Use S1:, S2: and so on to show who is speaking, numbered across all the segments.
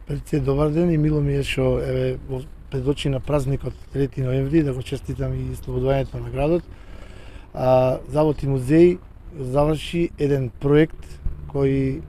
S1: Пред се добар ден и мило ми е што пред очи на празникот 3 ноември да го честитам и слободувањето на градот. Завод и музеј заврши еден проект кој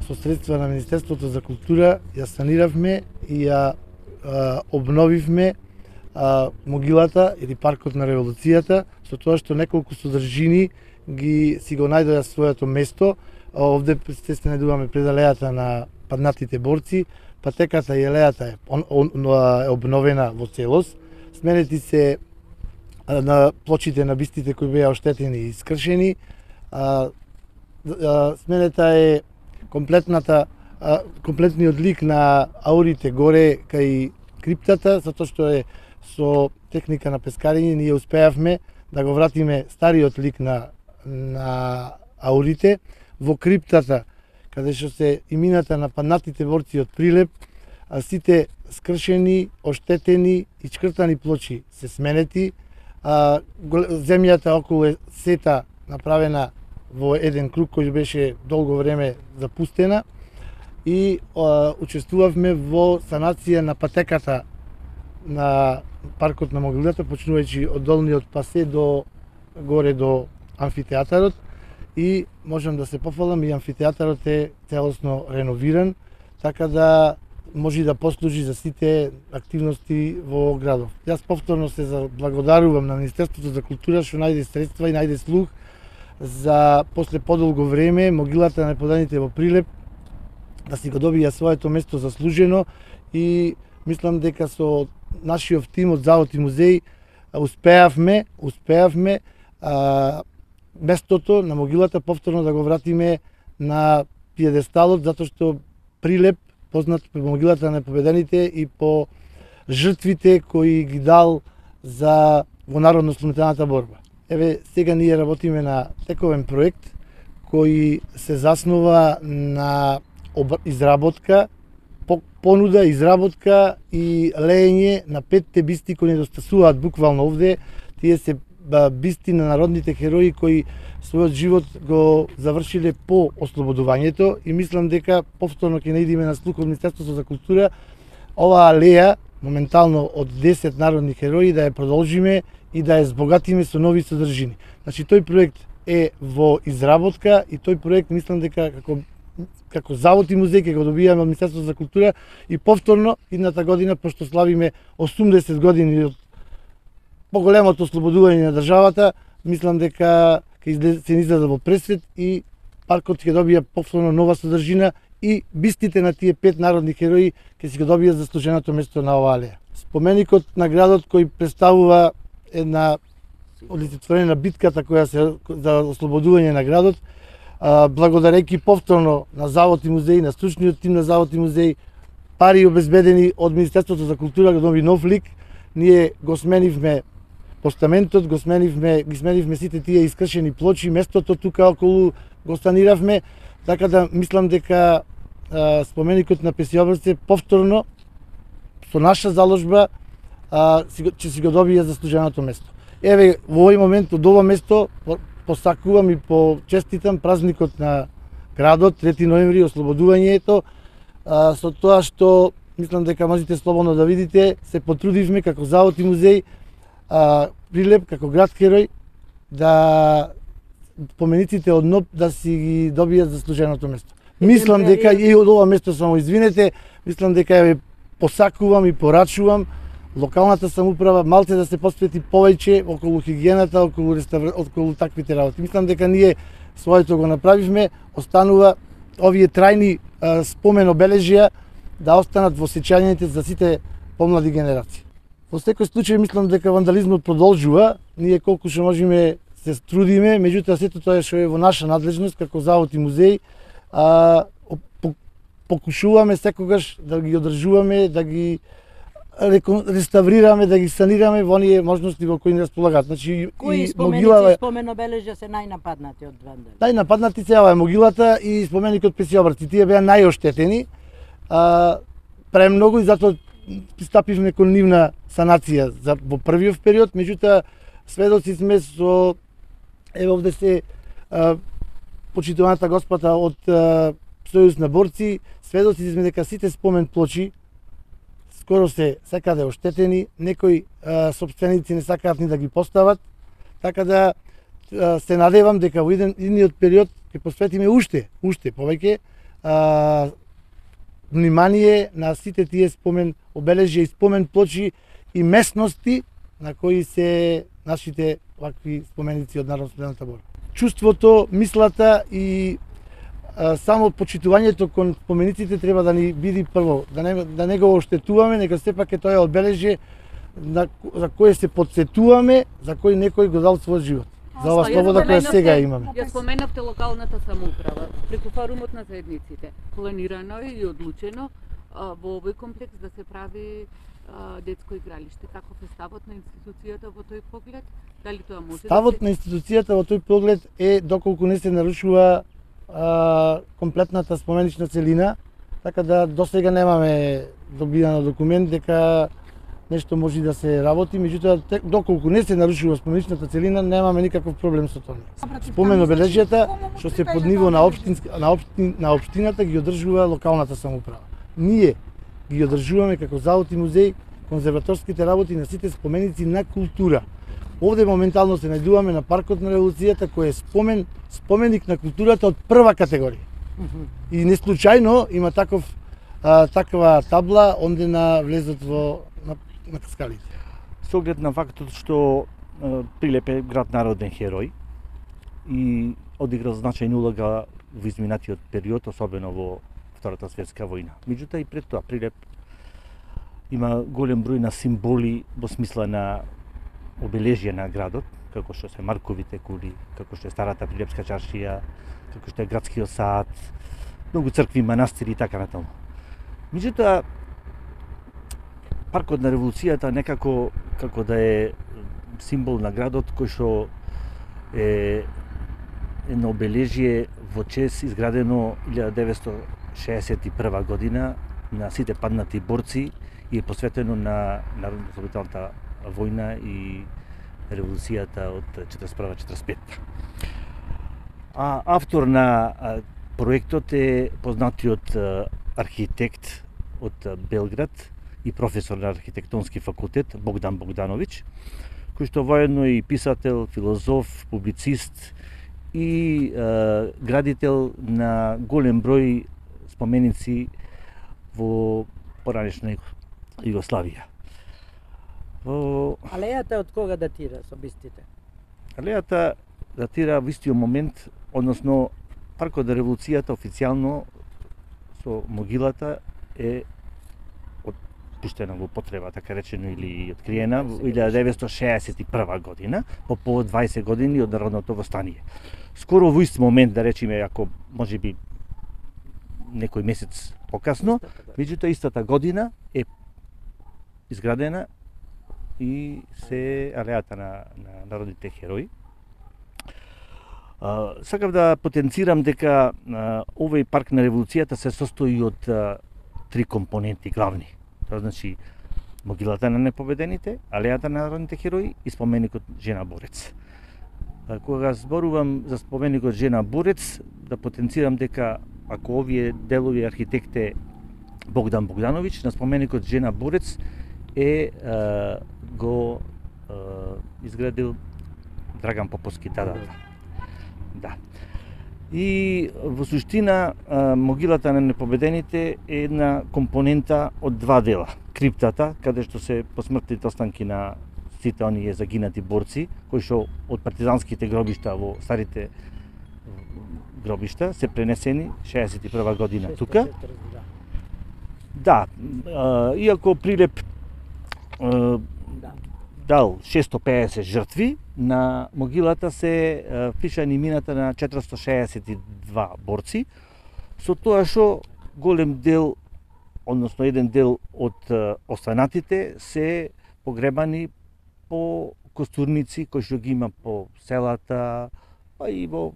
S1: со средства на Министерството за култура ја саниравме и ја обновивме могилата или паркот на револуцијата, со тоа што неколку содржини си го најдоа своето место. Овде се најдуваме пред алејата на паднатите борци, патеката и алејата е обновена во целост. Сменети се на плочите на бистите кои беа оштетени и скршени. Сменета е комплетниот лик на аурите горе кај криптата, затоа што е со техника на пескарење ние успеавме да го вратиме стариот лик на аурите во криптата, каде што се имината на паднатите борци од Прилеп, сите скршени, оштетени и чкртани плочи се сменети. Земјата околу сета направена во еден круг кој беше долго време запустена и учествувавме во санација на патеката на паркот на могилата, почнувајќи од долниот пасе до горе до амфитеатарот, и можам да се пофалам и амфитеатарот е целосно реновиран, така да може да послужи за сите активности во градот. Јас повторно се благодарувам на Министерството за култура што најде средства и најде слух за после подолго време могилата на неподаните во Прилеп да си го добија своето место заслужено, и мислам дека со нашиот тим од Завод и музеј успеавме местото на могилата повторно да го вратиме на пиедесталот, затоа што Прилеп познат по могилата на победените и по жртвите кои ги дал за во народно-ослободителната борба. Сега ние работиме на тековен проект кој се заснова на изработка, понуда, изработка и леење на 5 бисти кои недостасуваат буквално овде. Тие се бисти на народните херои кои својот живот го завршиле по ослободувањето, и мислам дека повторно ќе наидиме на слух од Министерството за култура оваа алеја моментално од 10 народни херои да ја продолжиме и да ја збогатиме со нови содржини. Значи тој проект е во изработка и тој проект мислам дека како Завод и музеј ќе го добијаме од Министерството за култура, и повторно идната година, пошто славиме 80 години од поголемото ослободување на државата, мислам дека ќе се излезе во пресвет и паркот ќе добија повторно нова содржина и бистите на тие 5 народни херои ќе си го добијат заслуженото место на оваа алеја. Споменикот на градот кој представува една олицетворење на битката која се за ослободување на градот, благодарејќи повторно на Завод и музеј, на стручниот тим на Завод и музеј, пари обезбедени од Министерството за култура го доби нов лик, ние го сменивме постаментот, ги сменивме сите тие искршени плочи, местото тука околу го саниравме, така да мислам дека споменикот на Песиобрце повторно со наша заложба ќе си го добие заслуженото место. Во овој момент од ова место посакувам и почеститам празникот на градот 3 ноември, ослободувањето, со тоа што мислам дека можете слободно да видите, се потрудивме како Завод и музеј Прилеп како град херој да помениците од НОП да си ги добијат заслуженото место. Мислам дека и од ова место само извинете, мислам дека ја посакувам и порачувам локалната самоуправа малце да се посвети повеќе околу хигиената, околу таквите работи. Мислам дека ние своето го направивме, останува овие трајни спомен обележја да останат во сеќањето за сите помлади генерации. Во секој случај мислам дека вандализмот продолжува, ние колку што можеме се трудиме, меѓутоа сето тоа што е во наша надлежност како Завод и музеј, покушуваме секогаш да ги одржуваме, да ги реставрираме, да ги санираме во оние можности во кои ни располагаат. Значи
S2: кои спомен обележја се најнападнати од вандали?
S1: Најнападнати се ова е могилата и споменикот Песиобрци. Тие беа најоштетени премногу и затоа пристапивме кон нивна санација во првиот период, меѓутоа сведоци сме со овде се почитуваната госпота од сојуз на борци, сведоци сме дека сите спомен плочи скоро се секаде оштетени, некои сопственици не сакаат ни да ги постават, така да се надевам дека во идниот период ќе посветиме уште повеќе внимание на сите тие спомен обележја и спомен плочи и местности на кои се нашите вакви споменици од народно-освободителната борба. Чувството, мислата и само почитувањето кон спомениците треба да ни биде прво, да не го оштетуваме, нека сепак е тоа обележје за кое се подсетуваме, за кој некој го дал својот живот. За ова слобода која сега имаме.
S3: Ја споменавте локалната самоуправа. Преку форумот на заедниците планирано е и одлучено во овој комплекс да се прави детско игралиште. Каков е ставот на институцијата во тој поглед? Дали тоа може
S1: Ставот на институцијата во тој поглед е доколку не се нарушува комплетната споменична целина, така да досега немаме добидан документ дека нешто може да се работи, меѓутоа доколку не се нарушува споменичната целина, немаме никаков проблем со тоа. Спомен обележјата што се под ниво на општината ги одржува локалната самоуправа. Ние ги одржуваме како завод и музеј конзерваторските работи на сите споменици на култура. Овде моментално се најдуваме на паркот на револуцијата кој е споменик на културата од прва категорија. И не случајно има таква табла онде на влезот на Каскалите.
S4: Со оглед на фактот што Прилеп е град народен херој и одиграл значајна улога во изминатиот период, особено во Втората светска војна. Меѓутоа и пред тоа Прилеп има голем број на символи во смисла на обележје на градот, како што се Марковите кули, како што е старата Прилепска чаршија, како што е градскиот сад, многу цркви, манастири и така натаму. Меѓутоа, паркот на револуцијата некако како да е символ на градот кој што е едно обележје во чест изградено 1961 година на сите паднати борци и е посветено на народно-освободителната војна и револуцијата од 41-45. А автор на проектот е познатиот архитект од Белград и професор на архитектонски факултет Богдан Богдановиќ, кој што воедно е и писател, филозоф, публицист и градител на голем број споменици во поранешна Југославија.
S2: Алејата од кога датира со бистите?
S4: Алејата датира во истиот момент, односно паркот на револуцијата официјално со могилата е пуштена во потреба, така речено, или откриена во 1961 година, по повод 20 години од народното востание. Скоро во ист момент, да речеме, ако можеби некој месец покасно, меѓутоа истата година е изградена и се алејата на народните херои. Сакав да потенцирам дека овој парк на револуцијата се состои од три компоненти главни. Тоа значи могилата на непобедените, алејата на народните херои и споменикот Жена Борец. Кога зборувам за споменикот Жена Борец, да потенцирам дека ако овие делови архитект е Богдан Богдановиќ, на споменикот Жена Борец го изградил Драган Поповски дадата. Да. И во суштина могилата на непобедените е една компонента од два дела. Криптата, каде што се посмртните останки на сите оние загинати борци, кои што од партизанските гробишта во старите гробишта се пренесени 61 година тука. Да, иако Прилеп дал 650 жртви, на могилата се пишани имината на 462 борци, со тоа што голем дел, односно еден дел од останатите се погребани по костурници кои што ги има по селата, па и во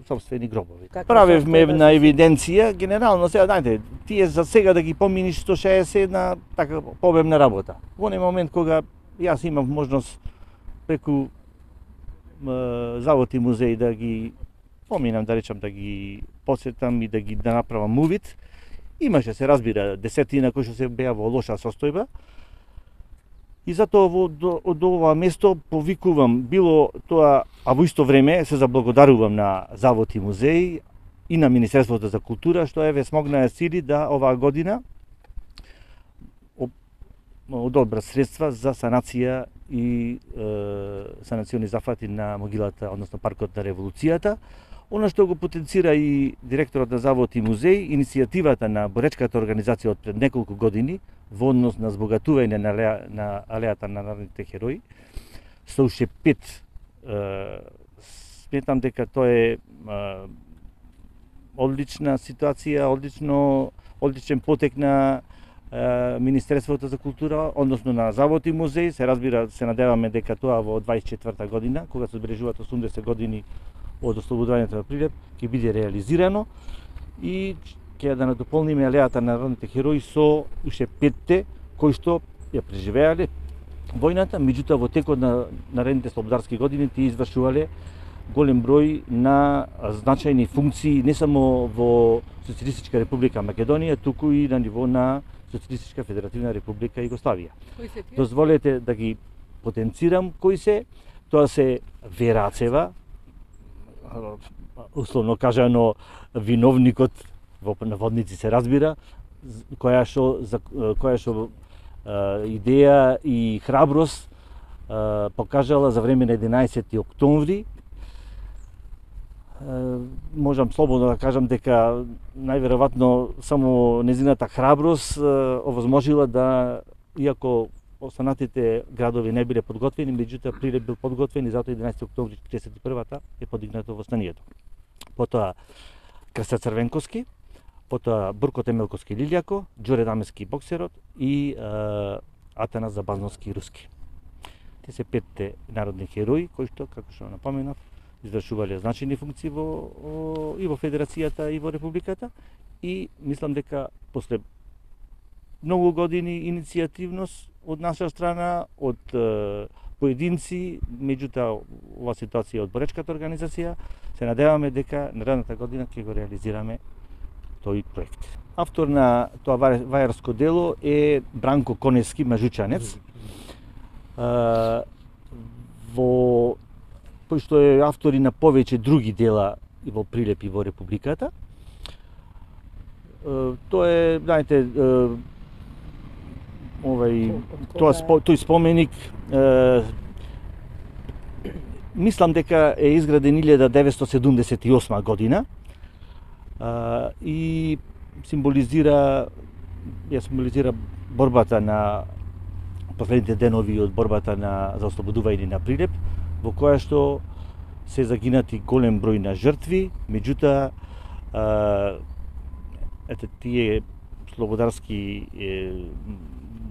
S4: собствени гробови. Правевме една евиденција, генерално сега, знаете, тие за сега да ги поминиш 160 на така пообемна работа. Во оној момент кога јас имав можност преку завод и музеј да ги поминам, да речам, да ги посетам и да направам увид. Имаше, се разбира, десетина кои што се беа во лоша состојба. И затоа од ова место повикувам било тоа, а во исто време се заблагодарувам на Завод и музеј и на Министерството за култура што еве смогнаа сили да оваа година одобрат средства за санација и санациони зафати на могилата, односно паркот на револуцијата. Она што го потенцира и директорот на Завод и музеј, иницијативата на боречката организација од пред неколку години во однос на збогатување на алејата на народните херои, со уште 5, сметам дека тоа е одлична ситуација, одличен потек на Министерството за култура, односно на Завод и музеј. Се разбира, се надеваме дека тоа во 24 година, кога се одбележуваат 80 години од ослободувањето на Прилеп, ќе биде реализирано и ќе да надополниме алејата на народните херои со уште 5 кои што ја преживеале војната, меѓутоа во текот на наредните слободарски години тие извршувале голем број на значајни функции не само во Социјалистичка република Македонија, туку и на ниво на Социјалистичка федеративна република Југославија. Дозволете да ги потенцирам кои се. Тоа се Вера Ацева, условно кажано виновникот во наводници се разбира, која што идеја и храброст покажала за време на 11 октомври. Можам слободно да кажам дека најверојатно само незината храброст овозможила да, иако останатите градови не биле подготвени, меѓутоа Прилеп бил подготвен и затоа 11 октомври 41-та е подигнато востанието. Потоа Крста Црвенковски, потоа Бурко Темелковски Лилјако, Ѓоре Дамески Боксерот и Атанас Забазновски Руски. Те се 5 народни херои кои што, како што напоменав, извршувале значајни функции и во Федерацијата и во Републиката, и мислам дека после многу години иницијативност од наша страна, од поединци, меѓутоа ова ситуација од боречката организација, се надеваме дека наредната година ќе го реализираме тој проект. Автор на тоа вајарско дело е Бранко Конески, мажучанец, кој што е автор и на повеќе други дела и во Прилеп и во Републиката. Тоа е, знаете, тој споменик мислам дека е изграден 1978 година и символизира борбата на последните денови од борбата за ослободување на Прилеп, во која што се загинати голем број на жртви, меѓутоа тие слободарски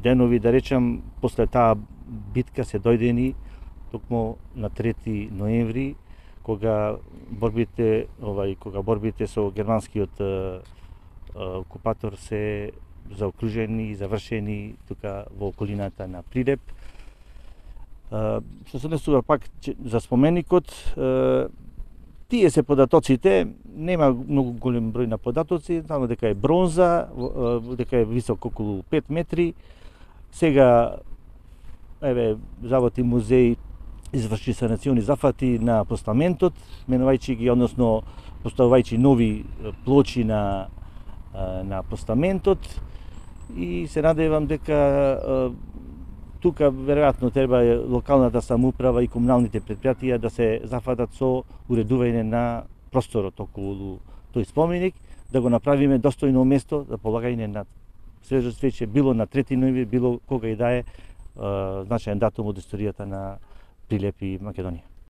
S4: денови, да речам, после таа битка се дојдени токму на 3 ноември, кога борбите со германскиот окупатор се заокружени и завршени тука во околината на Прилеп. Што се однесува пак за споменикот, тие се податоците, нема многу голем број на податоци, само дека е бронза, дека е висок околу 5 метри. Сега, еве, Завод и музеј изврши санациони зафати на постаментот, менувајќи ги, односно поставувајќи нови плочи на постаментот, и се надевам дека тука веројатно треба локалната самоуправа и комуналните предпријатија да се зафатат со уредување на просторот околу тој споменик, да го направиме достојно место за полагање на свежо цвеќе, било на 3 ноември, било кога и да е значаен датум од историјата на Прилеп и Македонија.